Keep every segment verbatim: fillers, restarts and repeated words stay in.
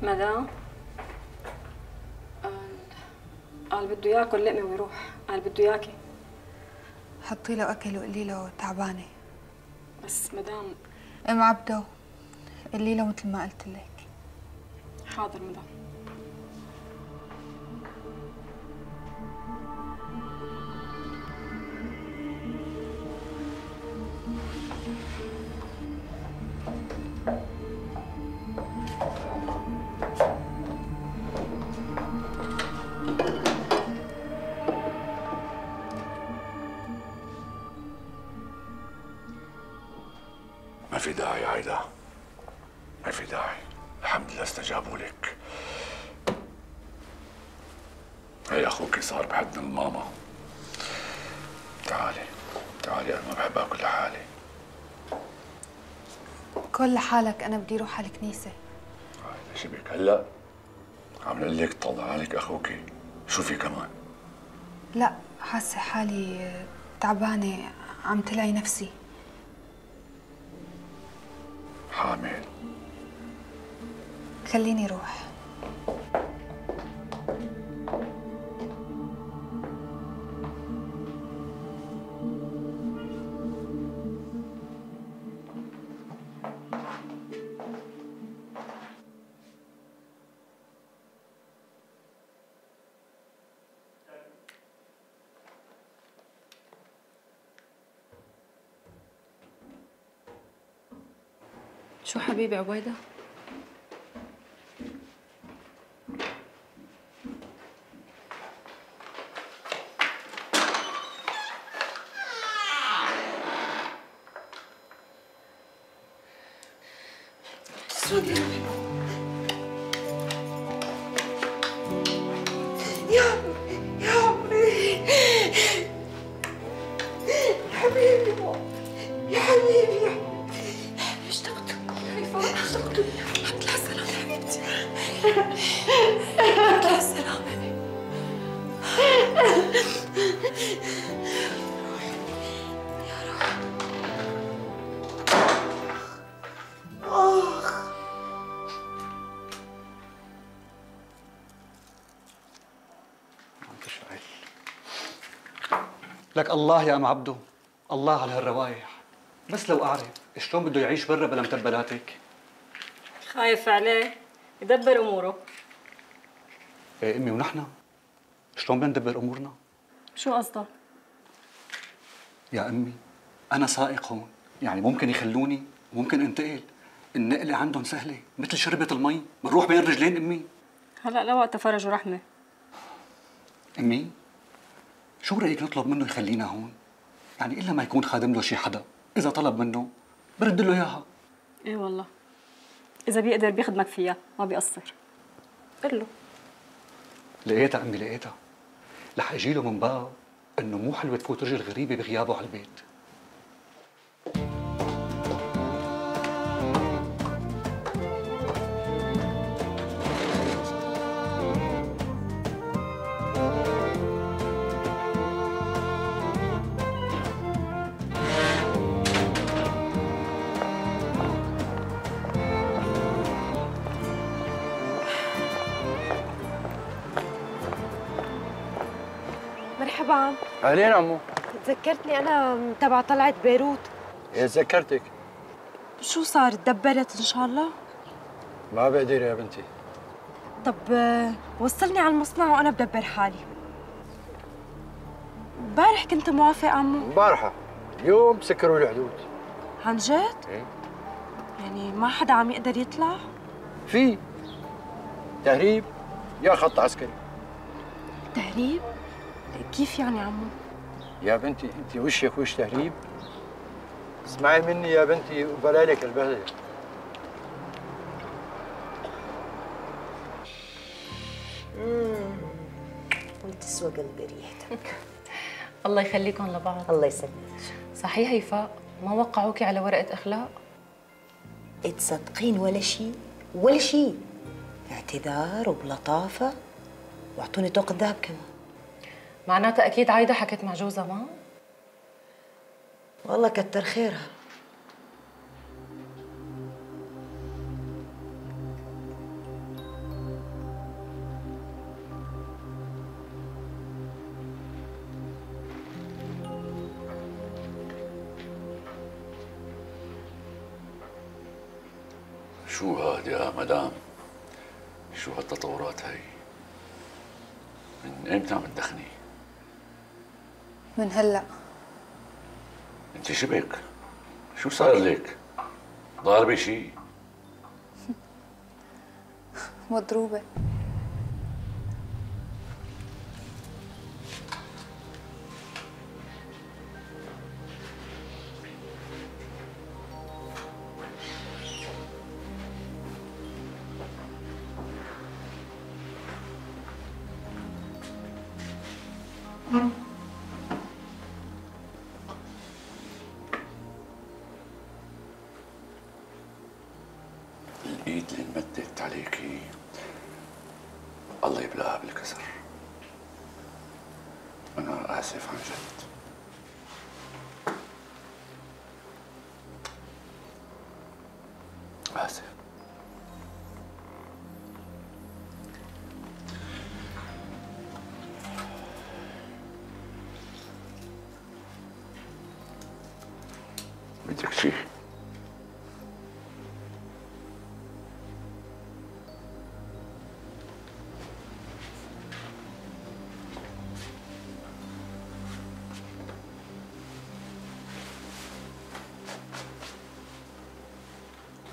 مدام قال قال بده ياكل لقمه ويروح. قال بده ياكي. حطي له اكل وقولي له تعبانه. بس مدام ام عبدو قولي له مثل ما قلت لك. حاضر مدام. ما في داعي عايدة، ما في داعي. الحمد لله استجابوا لك. هي اخوك صار بحضن الماما. تعالي تعالي، انا ما بحب اكل لحالي. كل لحالك، انا بدي اروح على الكنيسه. عايدة شو بك هلا؟ عم نقول لك طلع لك اخوك، شو في كمان؟ لا، حاسه حالي تعبانه، عم تلعي نفسي. حامل؟ خليني روح. شو حبيبي عبيدة؟ تسودي يا عمي يا عمي يا حبيبي يا حبيبي يا حبيبي اشتقت اشتقت. الحمد لله على السلامة حبيبتي. الحمد لله على السلامة. يا روح آخ. لك الله يا ام عبدو، الله على هالروايح. بس لو اعرف شلون بده يعيش برا بلا متبلاتك. خايف عليه يدبر اموره. ايه امي، ونحن شلون بدنا ندبر امورنا؟ شو قصدك؟ يا امي انا سائق هون، يعني ممكن يخلوني وممكن انتقل. النقله عندهم سهله مثل شربة المي، بنروح بين رجلين امي. هلا لوقت فرج ورحمه. امي شو رايك نطلب منه يخلينا هون؟ يعني الا ما يكون خادم له شي حدا، اذا طلب منه برد له اياها. ايه والله، اذا بيقدر بيخدمك فيها ما بيقصر. قل له. لقيتها امي لقيتها. رح اجي له من باب انه مو حلوه تفوت رجل غريبه بغيابه على البيت. مرحبا عم. اهلين عمو. تذكرتني انا تبع طلعت بيروت. ايه تذكرتك. شو صار؟ تدبرت ان شاء الله؟ ما بقدر يا بنتي. طب وصلني على المصنع وانا بدبر حالي. امبارح كنت موافق عمو. امبارحه، اليوم سكروا الحدود. عن جد؟ ايه. يعني ما حدا عم يقدر يطلع؟ في تهريب يا خط عسكري. تهريب؟ كيف يعني عمو؟ يا بنتي انت وشك وش تهريب؟ اسمعي مني يا بنتي وبلا لك البهدله. اممم وتسوى قلبي ريحتك. الله يخليكم لبعض. الله يسلمك. صحيح يفاء، ما وقعوكي على ورقة أخلاق؟ تصدقين ولا شيء ولا شيء. اعتذار وبلطافة واعطوني طوق الذهب كمان. معناتها أكيد عايدة حكت مع جوزها ما؟ والله كتر خيرها. شو هاد يا مدام؟ شو هالتطورات هي؟ من ايمتى عم تدخني؟ من هلا. انت شبك؟ شو صار لك؟ ضاربة شي؟ مضروبة. الايد اللي انمدت عليكي الله يبلغها بالكسر. انا اسف عن جد. اسف. بدك شي؟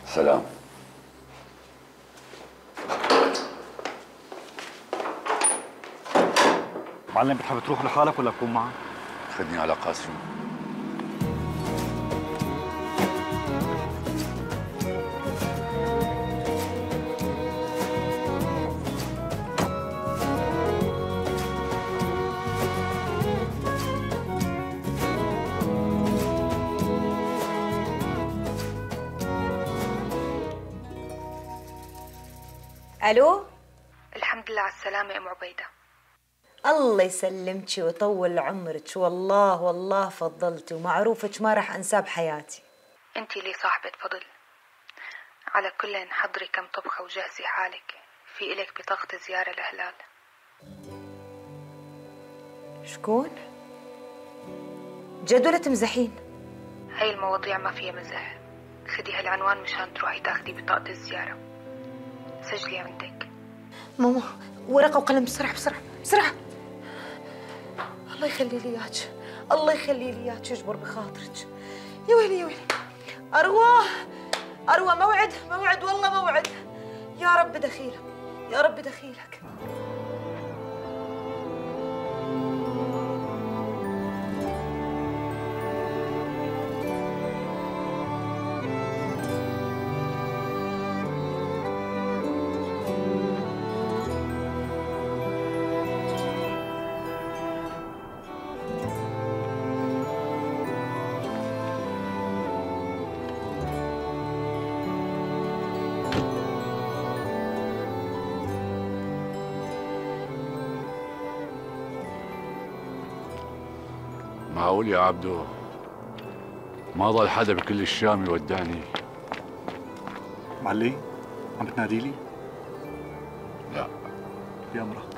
سلام. معلم بتحب تروح لحالك ولا بكون معك؟ خدني على قاسم. الو. الحمد لله على السلامة ام عبيدة. الله يسلمك ويطول عمرك، والله والله فضلتي ومعروفك ما راح انساه بحياتي. انتي لي صاحبة فضل. على كل حضري كم طبخة وجهزي حالك، في إلك بطاقة زيارة لهلال. شكون؟ جد ولا تمزحين؟ هاي المواضيع ما فيها مزح. خدي هالعنوان مشان تروحي تاخدي بطاقة الزيارة. سجلي عندك. ماما ورقة وقلم بسرعة بسرعة بسرعة. الله يخلي لي اياك، الله يخلي لي اياك ويجبر بخاطرك. يا ويلي يا ويلي. أروى أروى موعد موعد والله موعد. يا رب دخيلك يا رب دخيلك. معقول يا عبدو ما ضل حدا بكل الشام يودعني؟ معلي عم بتنادي لي؟ لا. بأمرك.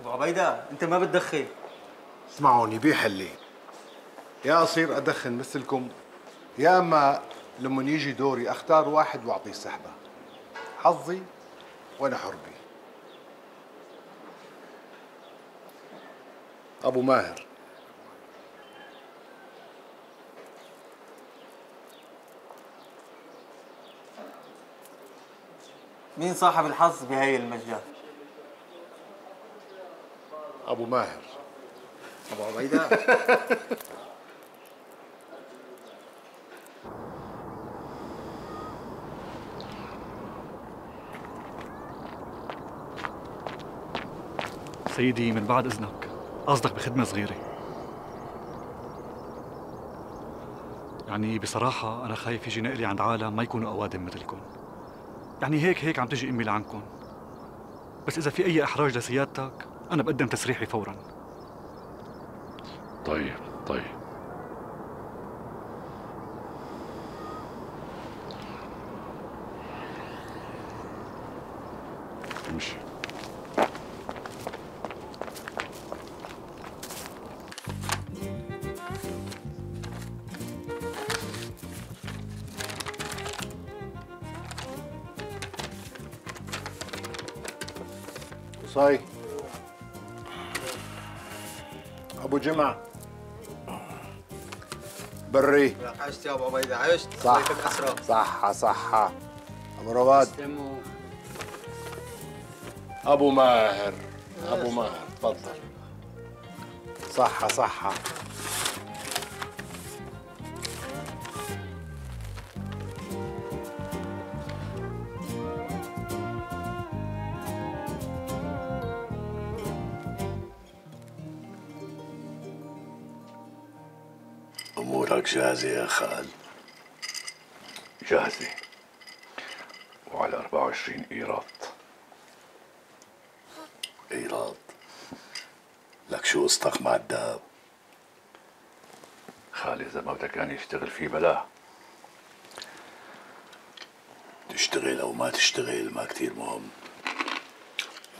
عبيدة انت ما بتدخن. اسمعوني بيحلي، يا اصير ادخن مثلكم يا اما لما يجي دوري اختار واحد واعطيه سحبه. حظي وانا حربي. ابو ماهر. مين صاحب الحظ بهاي المجال؟ ابو ماهر. ابو عبيدة. سيدي من بعد اذنك، قصدك بخدمه صغيره. يعني بصراحه انا خايف يجي نقلي عند عالم ما يكونوا اوادم مثلكم. يعني هيك هيك عم تجي امي لعندكم، بس إذا في أي إحراج لسيادتك أنا بقدم تسريحي فوراً. طيب طيب. امشي. صاي ابو جمعه بري. عشت يا ابو عبيده، عشت. صح صحة صحة. ابو رواد. ابو ماهر ابو ماهر تفضل. صحة صحة. أمورك جاهزة يا خال؟ جاهزة، وعلى أربعة وعشرين إيراد. إيراد؟ لك شو قصتك مع الدهب؟ خالي إذا ما بدك كان يشتغل فيه بلاه. تشتغل أو ما تشتغل ما كتير مهم،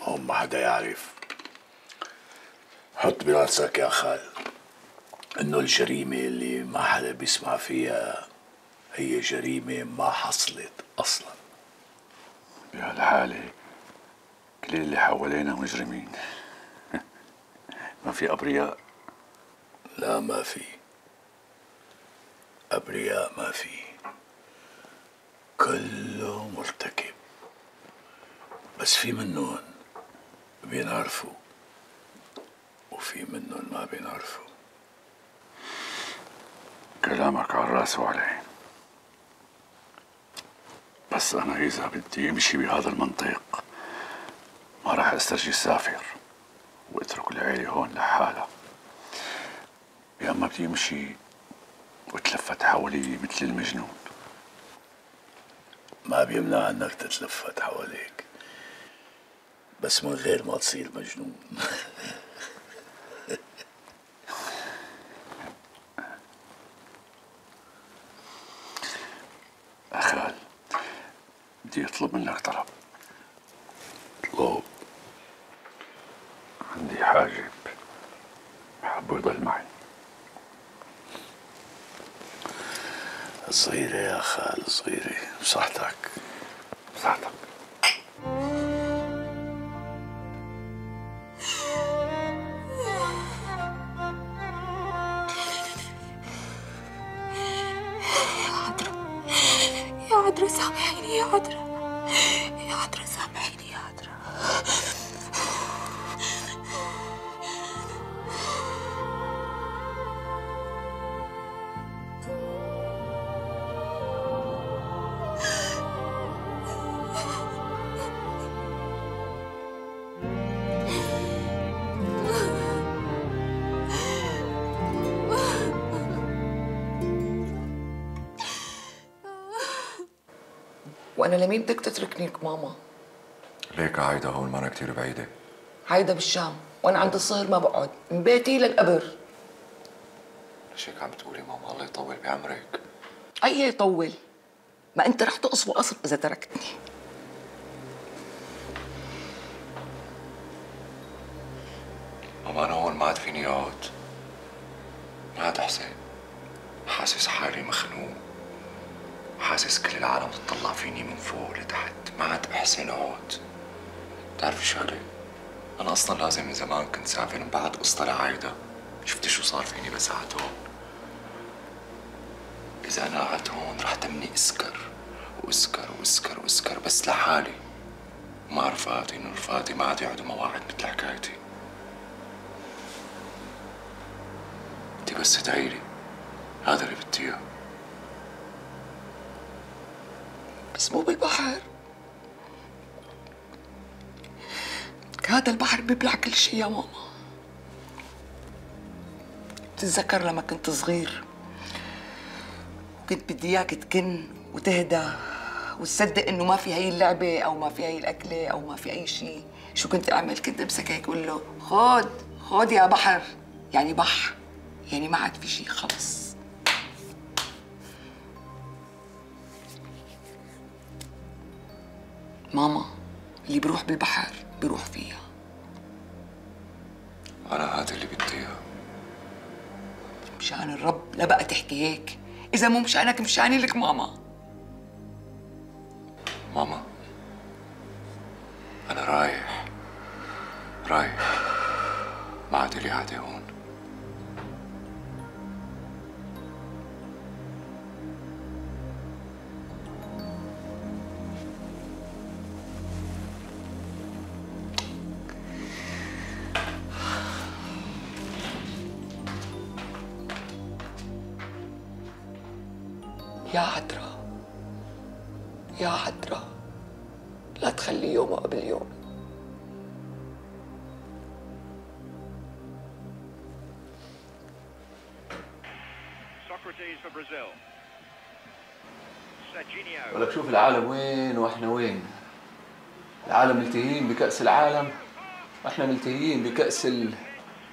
هم ما حدا يعرف. حط براسك يا خال إنه الجريمة اللي ما حدا بيسمع فيها هي جريمة ما حصلت أصلاً. بهالحالة كل اللي حوالينا مجرمين. ما في أبرياء. لا ما في أبرياء، ما في، كله مرتكب، بس في منهم بينعرفوا وفي منهم ما بينعرفوا. كلامك على الراس وعلى العين، بس أنا إذا بدي أمشي بهذا المنطق ما راح أسترجي السافر واترك العيلة هون لحالها، يا أما بدي أمشي واتلفت حوالي مثل المجنون. ما بيمنع أنك تتلفت حواليك، بس من غير ما تصير مجنون. أخال بدي أطلب منك طلب. اطلب. عندي حاجب حابه يضل معي. صغيرة يا خال، صغيرة، بصحتك بصحتك. يا عذرا سامحيني يا عذرا، يا عذرا سامحيني يا عذرا. وأنا لمين بدك تتركنيك ماما؟ ليك عايدة هون ما أنا كتير بعيدة. عايدة بالشام، وأنا عند الصهر ما بقعد، من بيتي للقبر. ليش هيك عم تقولي ماما؟ الله يطول بعمرك. أي يطول؟ ما أنت رح تقص وقصر إذا تركتني. ماما أنا هون ما عاد فيني أقعد، ما عاد أحسن، حاسس حالي مخنوق، حاسس كل العالم تطلع فيني من فوق لتحت، ما عاد بحسن اقعد. بتعرفي شغله؟ انا اصلا لازم من زمان كنت سافر من بعد قصة لعايدة. شفتي شو صار فيني بس قعدت هون؟ اذا انا قعدت هون رح تمني اسكر واسكر واسكر واسكر بس لحالي، مع رفقاتي انه رفقاتي ما عاد يقعدوا مواعيد مثل حكايتي. انتي بس تدعيلي، هذا اللي بدي اياه. بس مو بالبحر، هذا البحر بيبلع كل شيء يا ماما. بتتذكر لما كنت صغير وكنت بدي اياك تكن وتهدى وتصدق انه ما في هي اللعبه او ما في هي الاكله او ما في اي شيء، شو كنت اعمل؟ كنت امسك هيك اقول له خود خود يا بحر، يعني بح، يعني ما عاد في شيء خلص. ماما اللي بروح بالبحر بروح فيها. أنا هذا اللي بدي إياه. مشان الرب لا بقى تحكي هيك، إذا مو مشانك مشاني لك ماما. ماما أنا رايح رايح، ما عاد لي عادة هون. يا عذرا يا عذرا، لا تخلي يوم قبل يوم. ولك شوف العالم وين واحنا وين. العالم ملتهيين بكأس العالم واحنا ملتهيين بكأس ال...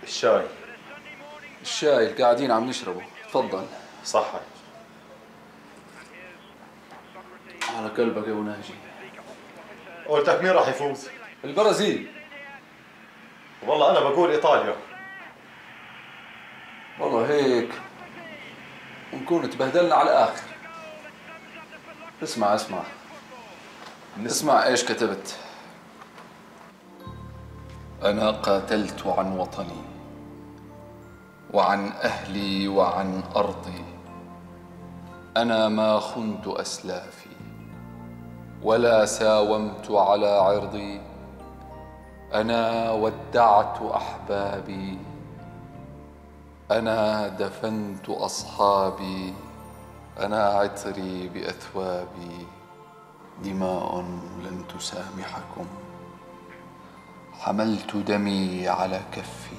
الشاي الشاي اللي قاعدين عم نشربه. تفضل. صحك. على قلبك يا ابو ناجي. قلتك مين راح يفوز؟ البرازيل. والله انا بقول ايطاليا. والله هيك ونكون تبهدلنا على الاخر. اسمع اسمع اسمع ايش كتبت. انا قاتلت عن وطني وعن اهلي وعن ارضي. انا ما خنت اسلافي ولا ساومت على عرضي. أنا ودعت أحبابي. أنا دفنت أصحابي. أنا عطري بأثوابي. دماء لن تسامحكم. حملت دمي على كفي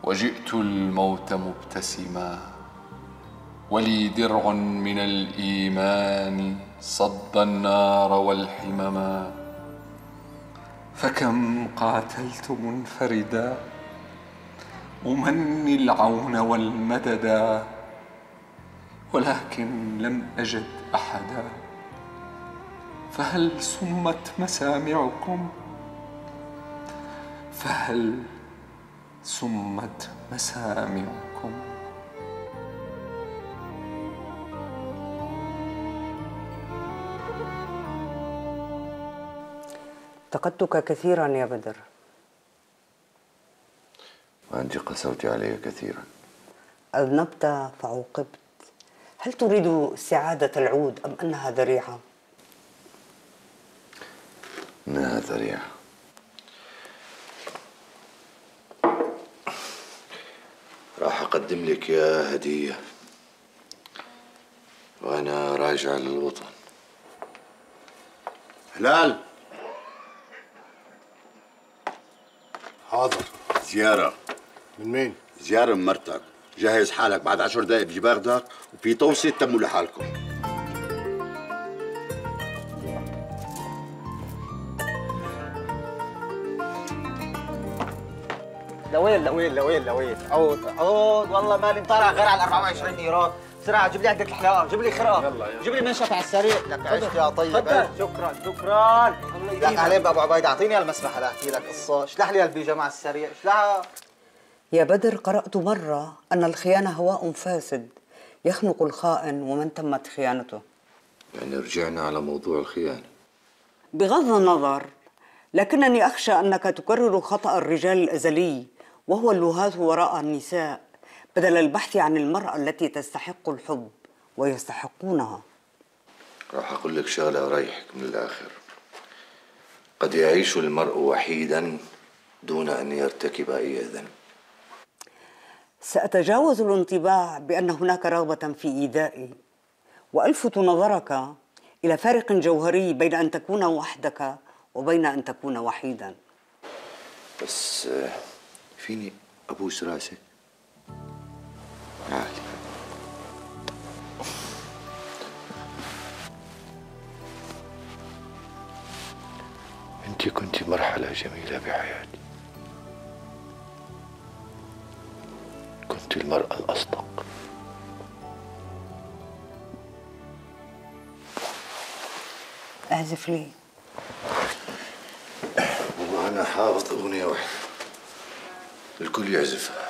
وجئت الموت مبتسما. ولي درع من الإيمان صد النار والحمما. فكم قاتلت منفردا أمني العون والمددا. ولكن لم أجد أحدا. فهل سمت مسامعكم؟ فهل سمت مسامعكم؟ انتقدتك كثيرا يا بدر. وأنت قسوت علي كثيرا. أذنبت فعوقبت. هل تريد استعادة العود أم أنها ذريعة؟ إنها ذريعة. راح أقدم لك يا هدية وأنا راجع للوطن. هلال. حاضر. زيارة. من مين؟ زيارة من مرتك. جهز حالك بعد عشر دقايق بيجي باخدك وفي توصية تموا لحالكم. لوين لوين لوين لوين عود عود والله مالي مطالع غير على أربعة وعشرين ايراد. بسرعة جيب لي عدة الحلاوة، جيب لي خرقة، يلا يلا جيب لي منشف على السريع. لك عشت يا طيب. شكرا شكرا. لك عليه بابو عبيد، اعطيني المسمح لاحكي لك قصة. اشلح لي البيجامة على السريع، اشلحها. يا بدر، قرأت مرة أن الخيانة هواء فاسد يخنق الخائن ومن تمت خيانته. يعني رجعنا على موضوع الخيانة. بغض النظر، لكنني أخشى أنك تكرر خطأ الرجال الأزلي وهو اللهاة وراء النساء بدل البحث عن المرأة التي تستحق الحب ويستحقونها. راح أقول لك شغلة أريحك من الآخر. قد يعيش المرء وحيدا دون أن يرتكب أي ذنب. سأتجاوز الانطباع بأن هناك رغبة في إيذائي وألفت نظرك إلى فارق جوهري بين أن تكون وحدك وبين أن تكون وحيدا. بس فيني أبوس راسك؟ عادي. انت كنت مرحلة جميلة بحياتي. كنت المرأة الأصدق. اعزف لي. وأنا حافظ أغنية واحدة الكل يعزفها.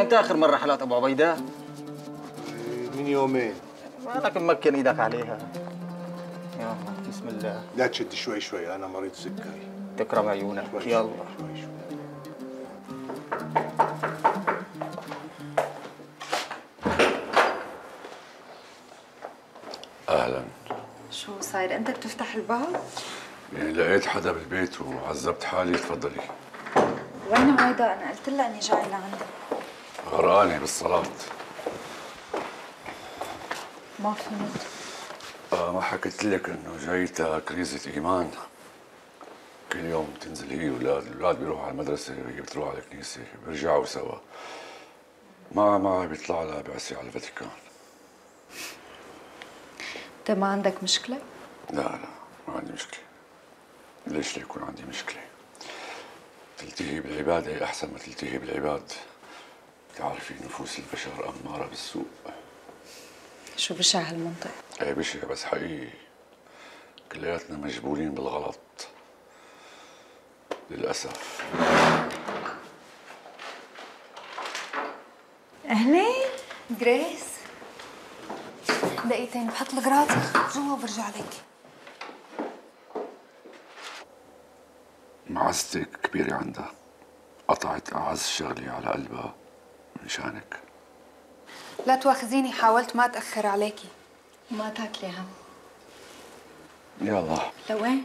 امتى اخر مره حلقت ابو عبيده؟ من يومين. مالك ممكن ايدك عليها. يلا بسم الله. لا تشد، شوي شوي، أنا مريض سكري. تكرم عيونك. شوي يلا شوي شوي. اهلا. شو صاير انت بتفتح الباب؟ يعني لقيت حدا بالبيت وعذبت حالي. تفضلي. وين عايدة؟ انا قلت لها اني جاي لعندك. غرقانه بالصلاه. ما فهمت. آه ما حكيت لك انه جايتها كريزة ايمان. كل يوم بتنزل هي والاولاد، الاولاد بيروحوا على المدرسه وهي بتروح على الكنيسه، بيرجعوا سوا. مع مع بيطلع لها بعثه على الفاتيكان. انت ما عندك مشكلة؟ لا لا ما عندي مشكله. ليش ليكون عندي مشكله؟ تلتهي بالعباده احسن ما تلتهي بالعباد. بتعرفي نفوس البشر اماره بالسوء. شو بشع هالمنطق؟ ايه بشع بس حقيقي. كلياتنا مجبورين بالغلط للأسف. أهلين جريس. دقيقتين بحط الغراض جوا وبرجع لك. معزتك كبيرة عندها. قطعت أعز شغلي على قلبها مشانك. لا تواخذيني، حاولت ما أتأخر عليكي. وما تاكلي هم. يلا. لوين؟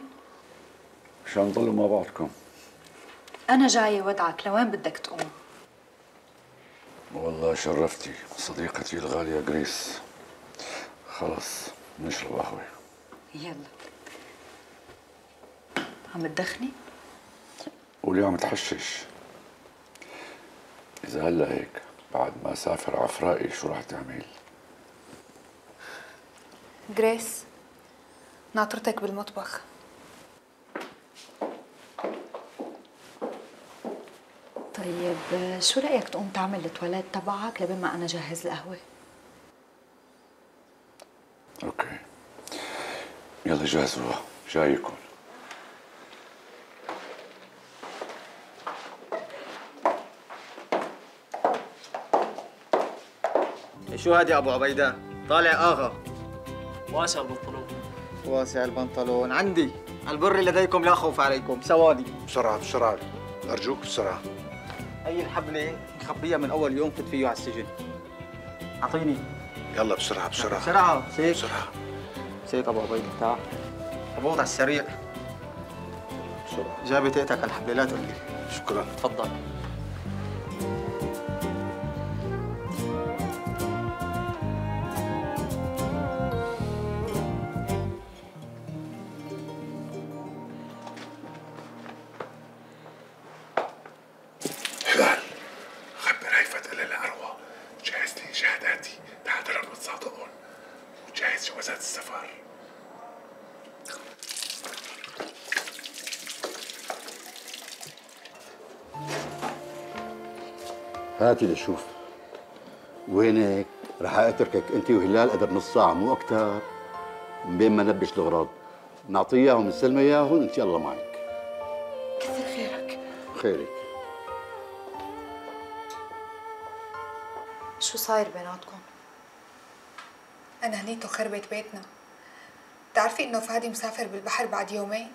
مشان نضلوا مع بعضكم. أنا جاية ودعك، لوين بدك تقوم؟ والله شرفتي صديقتي الغالية جريس. خلص نشرب قهوة. يلا. عم تدخني؟ قولي عم تحشش. إذا هلا هيك بعد ما أسافر عفرائي شو رح تعمل؟ جريس ناطرتك بالمطبخ. طيب شو رأيك تقوم تعمل التواليت تبعك لبين ما أنا جهز القهوة؟ أوكي. يلا جهزوها، جايكم. شو هاد يا ابو عبيده؟ طالع اغا. واسع البنطلون. واسع البنطلون عندي. البر لديكم لا خوف عليكم. سوادي. بسرعة بسرعة، أرجوك بسرعة. هي الحبلة مخبية من أول يوم كنت فيه على السجن. أعطيني. يلا بسرعة بسرعة. بسرعة سيك. بسرعة. سيك أبو عبيدة تعال. أبوط على السريع. بسرعة. جابي تقتك الحبلة لا تقول لي. شكرا. تفضل. هلال خبر هيفا قال للعروة جهز لي شهاداتي لحضرهم متصادقون وجهز جوازات السفر. هاتي لشوف. وينك؟ رح اتركك انت وهلال قدر نص ساعة مو أكتر. بين ما نبش الأغراض. نعطيه اياهم نسلمه اياهم انت يلا معك. كثر خيرك. خيرك. شو صاير بيناتكم؟ أنا هنيته خربت بيتنا. بتعرفي إنه فادي مسافر بالبحر بعد يومين؟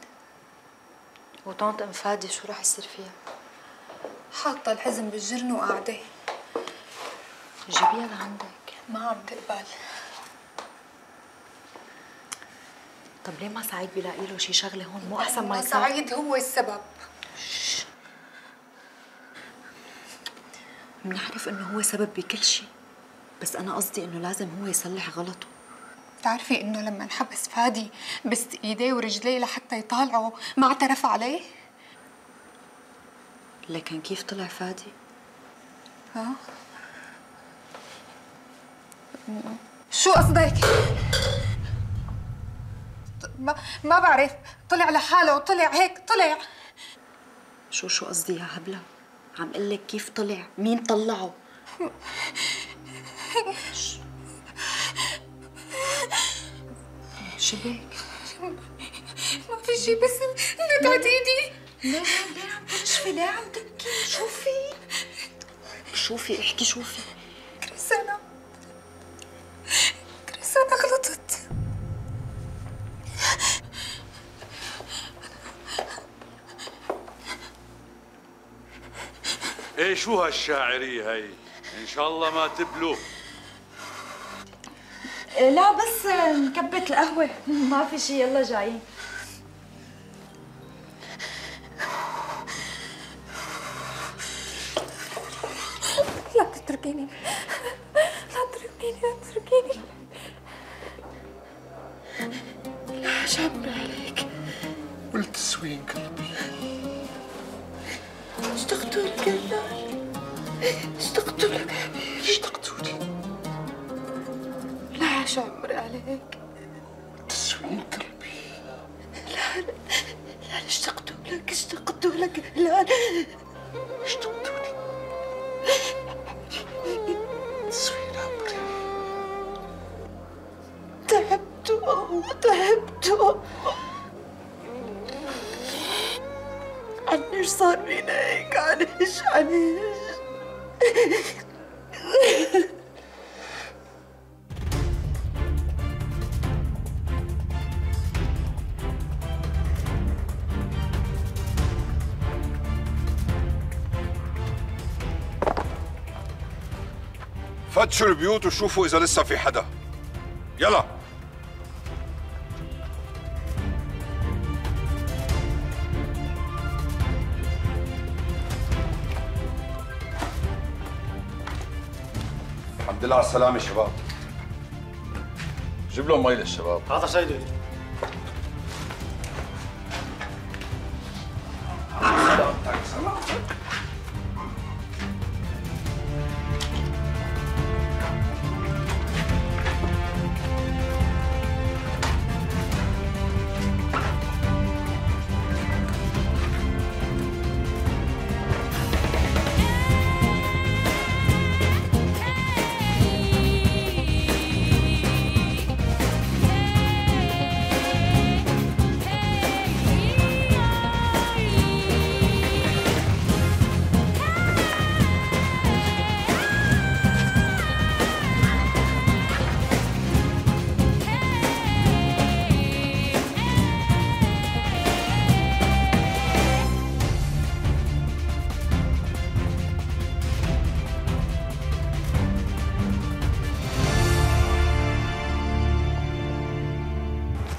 وطنط أم فادي شو رح يصير فيها؟ حاطة الحزن بالجرن وقاعدة. جيبيها لعندك. ما عم تقبل. طب ليه ما سعيد بيلاقي له شي شغلة هون؟ مو أحسن ما يسافر؟ سعيد هو السبب. بنعرف انه هو سبب بكل شيء، بس انا قصدي انه لازم هو يصلح غلطه. بتعرفي انه لما انحبس فادي بس ايديه ورجليه لحتى يطالعوا ما اعترف عليه؟ لكن كيف طلع فادي؟ ها؟ شو قصدك؟ ما ما بعرف، طلع لحاله وطلع هيك طلع. شو شو قصدي يا هبلة؟ عم قلك كيف طلع، مين طلعه؟ شبك؟ ما في شي بس نتعت ايدي. لا لا لا عم تنشفي، لا عم تبكي، شوفي شوفي احكي شوفي. كريسانا كريسانا غلطت. ايه شو هالشاعرية هي؟ ان شاء الله ما تبلو. لا بس نكبت القهوة، ما في شي، يلا جايين. لا تتركيني، لا تتركيني، لا تتركيني. لا شعبر عليك، قلت سوين قلبي. اشتقت لك يا هلال، اشتقت لك حبيبي، اشتقت لي. لا شعبر عليك، تسوين قلبي. لا لا لا اشتقت لك، اشتقت لك لا اشتقت لي. تسوين عمري. تعبت والله تعبت. عنيش صار فينا هيك، عنيش عنيش. فتشوا البيوت وشوفوا إذا لسه في حدا. يلا. الحمد لله على السلامة شباب. جيب لهم مي للشباب. هذا سيدي. سلامتك سلامتك.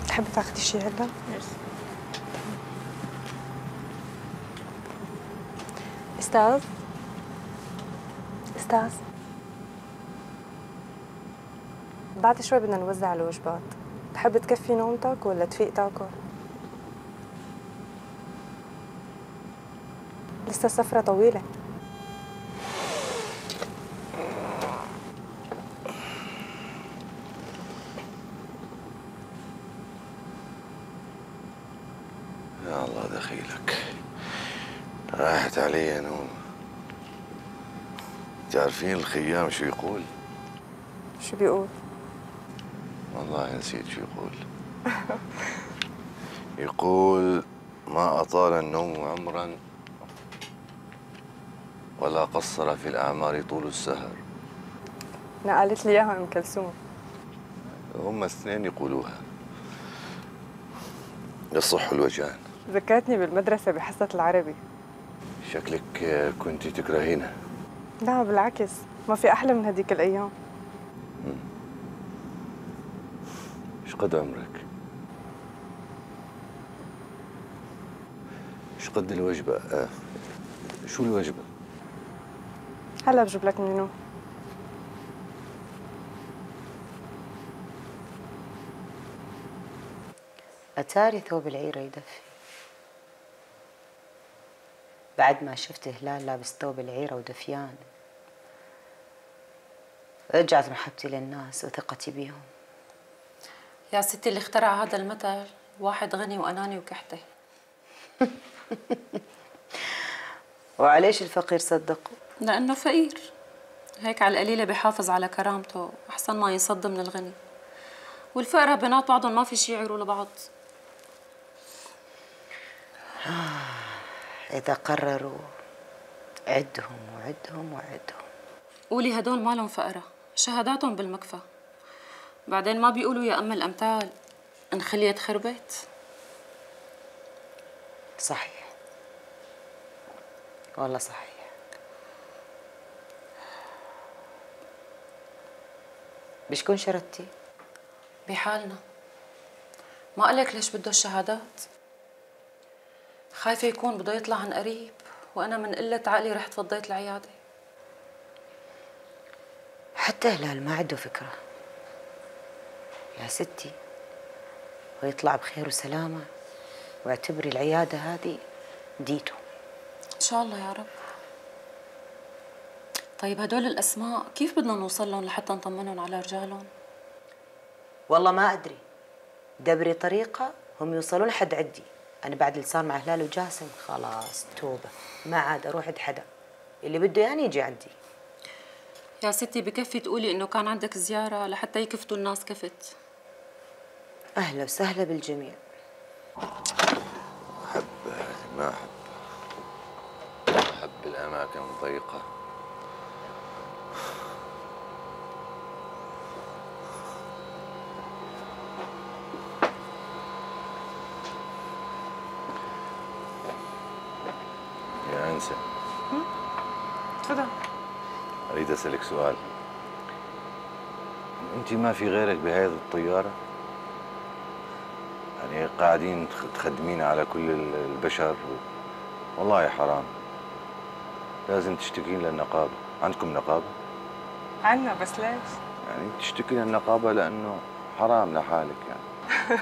تحبي تاخدي شي هلا؟ استاذ؟ استاذ؟ بعد شوي بدنا نوزع الوجبات، تحب تكفي نومتك ولا تفيق تاكل؟ لسه السفرة طويلة. يا الله دخيلك، راحت علي نوم. تعرفين الخيام شو يقول؟ شو بيقول؟ والله نسيت شو يقول. يقول ما أطال النوم عمرا ولا قصر في الأعمار طول السهر. نقلت لي إياها أم كلثوم. هم الاثنين يقولوها. يصح الوجهان. ذكرتني بالمدرسة بحصة العربي. شكلك كنت تكرهينها. لا بالعكس، ما في أحلى من هديك الأيام. ايش قد عمرك؟ ايش قد الوجبة؟ آه. شو الوجبة؟ هلا بجيب لك منو. أتاري ثوب العيرة يدفي. بعد ما شفت هلال لابس ثوب العيرة ودفيان رجعت محبتي للناس وثقتي بيهم. يا ستي اللي اخترع هذا المثل واحد غني وأناني وكحته. وعليش الفقير صدقه؟ لأنه فقير، هيك على القليلة بيحافظ على كرامته أحسن ما ينصد من الغني. والفقراء بينات بعضهم ما في شي يعيروا لبعض. إذا قرروا عدهم وعدهم وعدهم. قولي هدول مالهم فقراء، شهاداتهم بالمكفى. بعدين ما بيقولوا يا أم الأمثال إن خليت خربت. صحيح والله صحيح. بشكون شردتي؟ بحالنا. ما قلك ليش بده الشهادات؟ خايفة يكون بده يطلع عن قريب وأنا من قلة عقلي رحت فضيت العيادة. حتى هلال ما عنده فكرة يا ستي، ويطلع بخير وسلامة واعتبري العيادة هذه ديته. إن شاء الله يا رب. طيب هدول الأسماء كيف بدنا نوصل لهم لحتى نطمنهم على رجالهم؟ والله ما أدري، دبري طريقة هم يوصلون لحد عندي. أنا بعد اللي صار مع هلال وجاسم خلاص توبة، ما عاد أروح عند حدا، اللي بده يعني يجي عندي. يا ستي بكفي تقولي إنه كان عندك زيارة لحتى يكفتوا الناس كفت. أهلا وسهلا بالجميع. أحب ما أحب أحب الأماكن الضيقة. يا أنسة، تفضل. أريد أسألك سؤال. أنت ما في غيرك بهذه الطيارة؟ يعني قاعدين تخدمين على كل البشر. والله حرام، لازم تشتكين للنقابة. عندكم نقابة؟ عنا، بس ليش؟ يعني تشتكي للنقابة لأنه حرام لحالك يعني.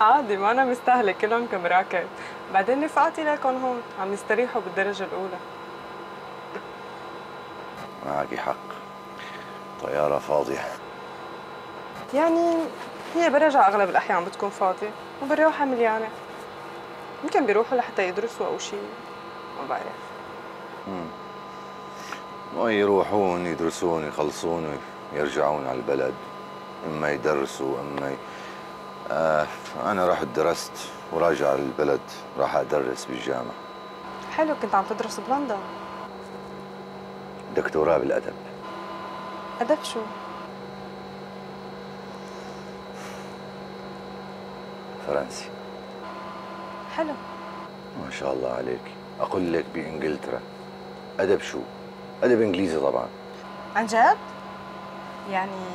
عادي، ما أنا مستاهلة كلهم كمراكب. بعدين رفقاتي لكم هون عم يستريحوا بالدرجة الأولى. معك حق، طيارة فاضية. يعني هي برجع أغلب الأحيان بتكون فاضية وبالروحة مليانة. يمكن بيروحوا لحتى يدرسوا أو شيء، ما بعرف. امم ويروحون يدرسون يخلصون ويرجعون على البلد، إما يدرسوا إما ي... آه أنا رحت درست وراجع على البلد، راح أدرس بالجامعة. حلو، كنت عم تدرس بلندن؟ دكتوراه بالأدب. أدب شو؟ فرنسي. حلو. ما شاء الله عليك. أقول لك بإنجلترا أدب شو؟ أدب إنجليزي طبعا. عن جد؟ يعني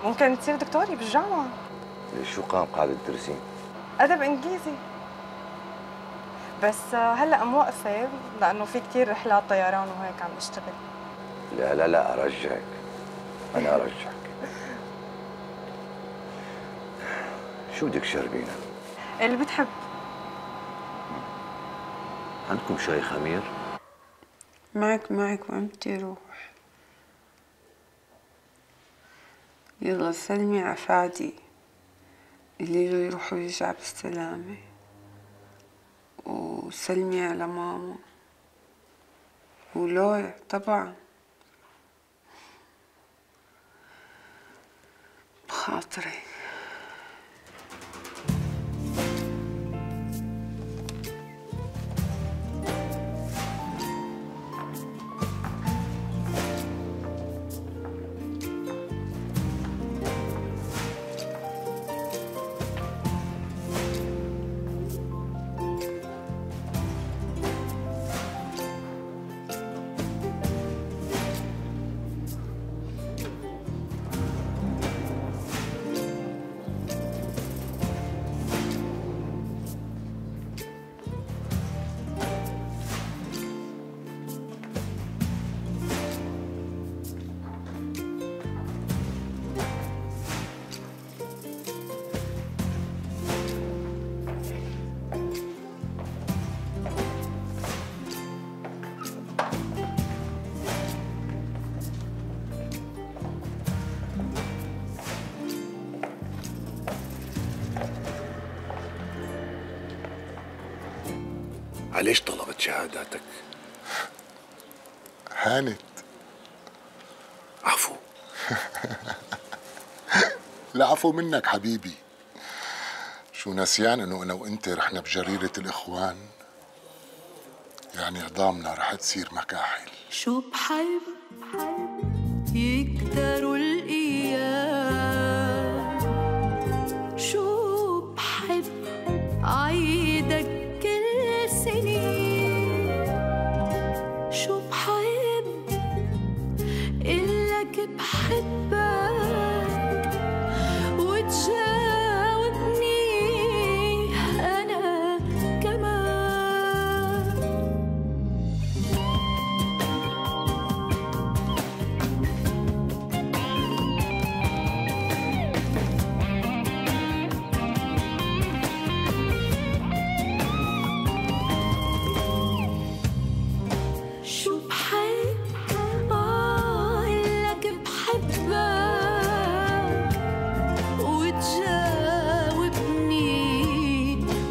ممكن تصير دكتوري بالجامعة. ليش شو قام قاعدة تدرسين؟ أدب إنجليزي. بس هلا موقفة لأنه في كثير رحلات طيران وهيك عم بشتغل. لا لا لا أرجعك، أنا أرجعك. شو بدك تشربينا؟ اللي بتحب. عندكم شاي خمير؟ معك معك وين بدي روح؟ يلا سلمي على فادي، اللي له يروح ويرجع بالسلامة، وسلمي على ماما ولويا طبعا بخاطري. علاش طلبت شهاداتك؟ هانت. عفو. العفو منك حبيبي. شو نسيان انه انا وانت رحنا بجريرة الاخوان؟ يعني عظامنا رح تصير مكاحل. شو بحب يكتروا الايام، شو بحب عيدك كل سنين، شو بحب قلك بحبك وتجاوبني أنا كمان. شو بحب قالك بحبك وتجاوبني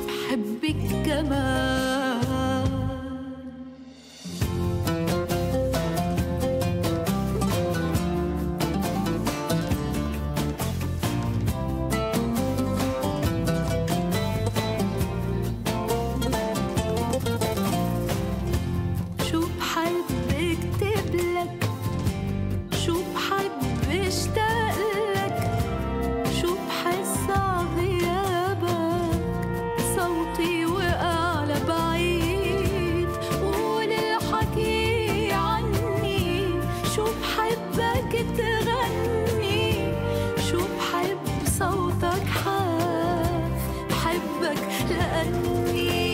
بحبك كمان. شو بحب اكتب لك، شو بحب اشتاق لك، شو بحس عغيابك صوتي وقع لبعيد، قول الحكي عني، شو بحبك تغني، شو بحب صوتك حاف بحبك لأني،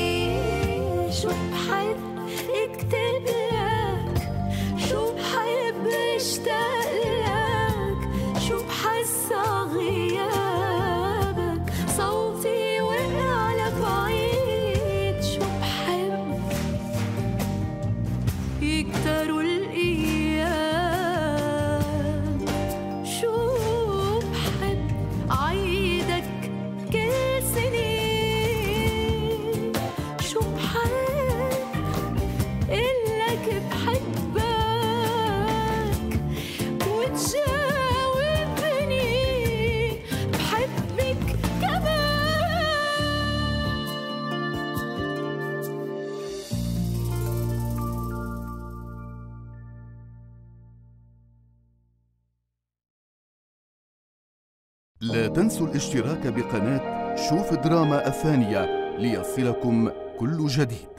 شو بحب اكتب لك، شو بحب اشتاق لك، شو بحس غيابك صوتي وقع لبعيد، شو بحب يكتروا الايام، شو بحب عيدك كل سنين، شو بحب قلك بحبك وتجاوبني بحبك لا تنسوا الاشتراك بقناة شوف دراما الثانية ليصلكم كل جديد.